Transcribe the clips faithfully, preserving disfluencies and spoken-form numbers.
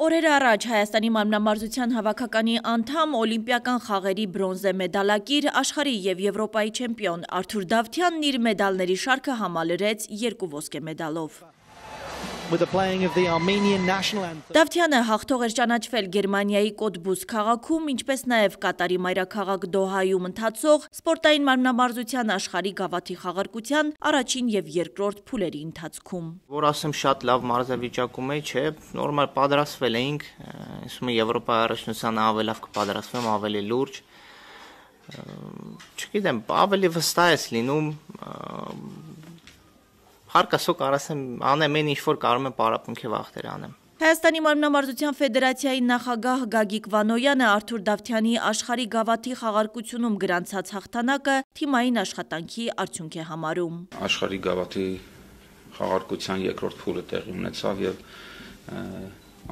Օրեր առաջ Հայաստանի մարմնամարզության հավաքականի անդամ, օլիմպիական խաղերի բրոնզե մեդալակիր, աշխարհի և Եվրոպայի չեմպիոն Արթուր Դավթյանն իր մեդալների շարքը համալրեց երկու ոսկե մեդալով։ Դավթյանը հաղթող էր ճանաչվել Գերմանիայի Կոտբուս քաղաքում, ինչպես նաև Կատարի մայրաքաղաք Դոհայում ընթացող սպորտային մարմնամարզության աշխարհի գավաթի խաղարկության առաջին և երկրորդ փուլերի ընթացքում։ Որ ասեմ շատ լավ մարզավիճակում էի, չէ, նորմալ պատրաստվել էինք, ասում եմ Եվրոպայի առաջնությանը ավելի լավ կպատրաստվեմ, ավելի լուրջ։ Չգիտեմ, ավելի վստահ ես լինում, հարկասո կարասեմ անեմ այն ինչ որ կարող եմ պարապմունքի վախտեր անեմ։ Հայաստանի մարմնամարզության ֆեդերացիայի նախագահ Գագիկ Վանոյանը Արթուր Դավթյանի աշխարհի գավաթի խաղարկությունում գրանցած հաղթանակը թիմային աշխատանքի արդյունք է համարում։ Աշխարհի գավաթի խաղարկության երկրորդ փուլը տեղի ունեցավ եւ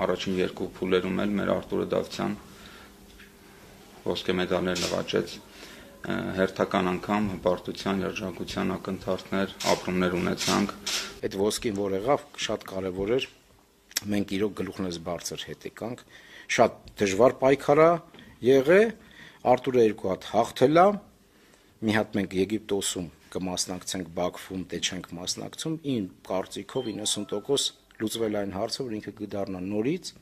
առաջին երկու փուլերում էլ մեր Արթուրը Դավթյան ոսկե մեդալներ նվաճեց։ Հերթական անգամ հպարտության, երջանկության ակնթարթներ, ապրումներ ունեցանք։ Այդ ոսկին որ եղավ, շատ կարևոր էր։ Մենք իրոք գլուխներս բարձր հետ եկանք, շատ դժվար պայքար է եղել, Արթուրը երկու հատ հաղթել է, մի հատ մենք Եգիպտոսում կմասնակցենք, Բաքվում դե չենք մասնակցում, իմ կարծիքով իննսուն տոկոս լուծվել այն հարցը, որ ինքը կդառնա նորից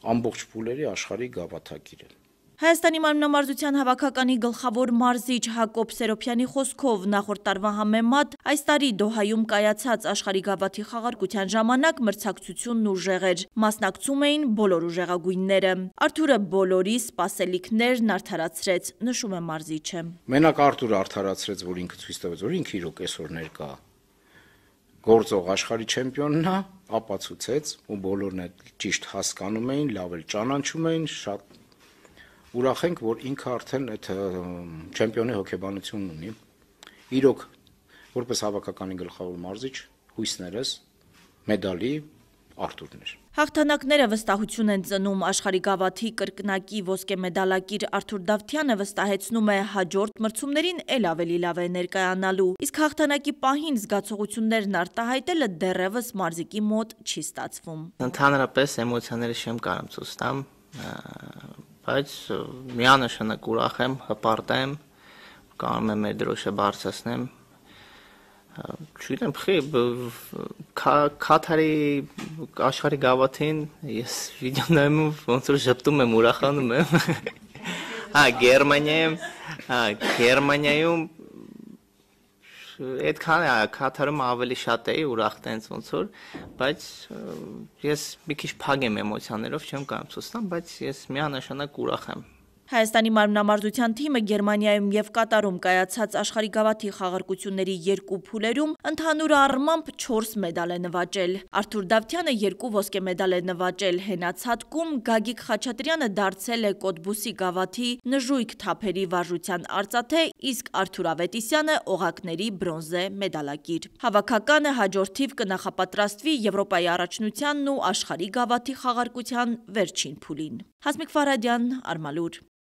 ամբողջ փուլերի աշխարհի գավաթակիրը։ Հայաստանի մարմնամարզության հավաքականի գլխավոր մարզիչ Հակոբ Սերոփյանի խոսքով նախորդ տարվա համեմատ այս տարի Դոհայում կայացած աշխարհի գավաթի խաղարկության ժամանակ մրցակցությունն ուժեղ էր, մասնակցում էին բոլոր ուժեղագույնները։ Արթուրը բոլորի սպասելիքներն արդարացրեց, նշում է մարզիչը։ Մենակ Արթուրը արդարացրեց, որ ինքը ցույց տվեց, որ ինքը իրոք այսօր ներկա գործող աշխարհի չեմպիոնն է, ապացուցեց, ու բոլորն էլ ճիշտ հասկանում էին, լավ էլ ճանաչում էին, շատ ուրախ ենք, որ ինքը արդեն այդ չեմպիոնի հոգեբանությունն ունի։ Իրոք, որպես հավաքականի գլխավոր մարզիչ, հույսներս մեդալի Արթուրն էր։ Հաղթանակները վստահություն են ծնում, աշխարհի գավաթի կրկնակի ոսկե մեդալակիր Արթուր Դավթյանը վստահեցնում է հաջորդ մրցումներին էլ ավելի լավ է ներկայանալու, իսկ հաղթանակի պահին զգացողություններն արտահայտելը դեռևս մարզիկի մոտ չի ստացվում։ Ընդհանրապես էմոցիաները չեմ կարող ցույց տամ, բայց միանշանակ ուրախ եմ, հպարտ եմ, կարող եմ մեր դրոշը բարձրացնեմ։ Չգիտեմ, Քաթարի աշխարհի գավաթին ես վիդեո նայում ոնց որ ժպտում եմ, ուրախանում եմ։ Հա, Գերմանիայում, հա, Գերմանիայում այդքան է, Քաթարում ավելի շատ էի ուրախ տենց ոնց որ, բայց ես մի քիչ փակ եմ էմոցիաներով, չեմ կարող ցույց տամ, բայց ես միանշանակ ուրախ եմ։ Հայաստանի մարմնամարզության թիմը Գերմանիայում և Կատարում կայացած աշխարհի գավաթի խաղարկությունների երկու փուլերում ընդհանուր առմամբ չորս մեդալ է նվաճել։ Արթուր Դավթյանը երկու ոսկե մեդալ է նվաճել հենացատկում, Գագիկ Խաչատրյանը դարձել է Կոտբուսի գավաթի նժույգ թափերի վարժության արծաթե, իսկ Արթուր Ավետիսյանը օղակների բրոնզե մեդալակիր։ Հավաքականը հաջորդ թիվ կնախապատրաստվի Եվրոպայի առաջնությանն ու աշխարհի գավաթի խաղարկության վերջին փուլին։ Հասմիկ Ֆարադյան, Արմալուր։